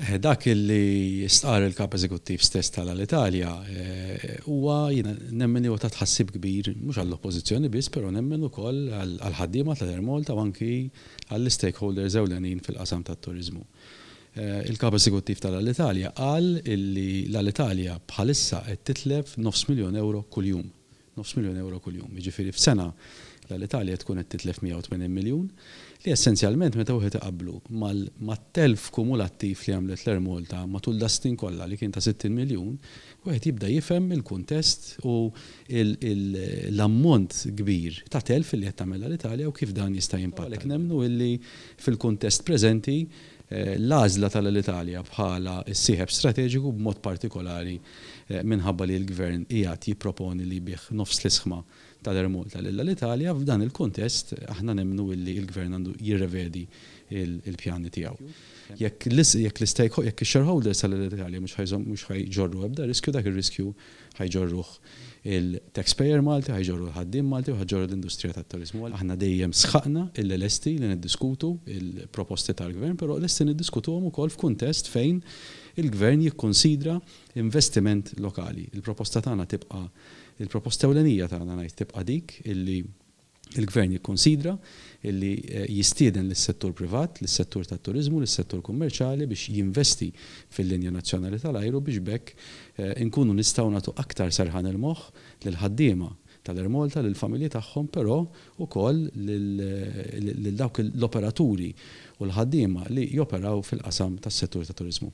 Dak li stqarr il-Kap Eżekuttiv stess tal-Alitalia huwa jiena nemmen li huwa ta' tħassib kbir mhux għall-Oppożizzjoni biss però nemmen ukoll għall-ħaddiema tal-Air Malta u anki għall-istakeholders ewlenin fil-qasam tat-turiżmu. Il-Kap Eżekuttiv tal-Alitalia qal li l-Alitalia bħalissa qed titlef nofs miljun ewro kuljum. Nofs miljun ewro kuljum. Jiġifieri f'sena l-Alitalia tkun qed titlef 180 miljun, li essenzjalment meta wieħed iqabblu mat-telf kumulattiv li għamlet l-Air Malta matul das-snin kollha li kien ta' 60 miljun, wieħed jibda jifhem il-kuntest u l-ammont kbir ta' telf li qed tagħmel l-Alitalia u kif dan jista' jimpatta. Għalhekk nemmnu illi fil-kuntest preżenti l-għażla tal-Alitalia bħala s-sieħeb strateġiku b'mod partikolari minħabba li l-Gvern qiegħed jipproponi li jbigħ nofs l-isħma tal-Air Malta lil Alitalia, f'dan il-kuntest aħna nemmnu illi l-Gvern għandu jirrevedi l-pjani tiegħu. Jekk jekk ix-shareholders tal-Alitalia mhux ħa jġorru ebda riskju, dak ir-riskju ħa jġorruh il-taxpayer Malti, ħa jġorru l-ħaddiem Malti u ħa ġġorru l-industrija tat-turiżmu. Aħna dejjem sħaqna illi lesti li niddiskutu l-proposti tal-Gvern, però lesti niddiskutuhom ukoll f'kuntest fejn il-Gvern jikkunsidra investiment lokali. Il-proposta tagħna tibqa' il-proposta ewlenija tagħna ngħid tibqa' dik illi il-Gvern jikkunsidra illi jistieden lis-settur privat, lis-settur tat-turiżmu, lis-settur kummerċjali biex jinvesti fil-linja nazzjonali tal-ajru biex b'hekk inkunu nistgħu nagħtu aktar serħan il-moħħ lill-ħaddiema tal-Air Malta, lill-familji tagħhom, però wkoll lil dawk l-operaturi u l-ħaddiema li joperaw fil-qasam tas-settur tat-turiżmu.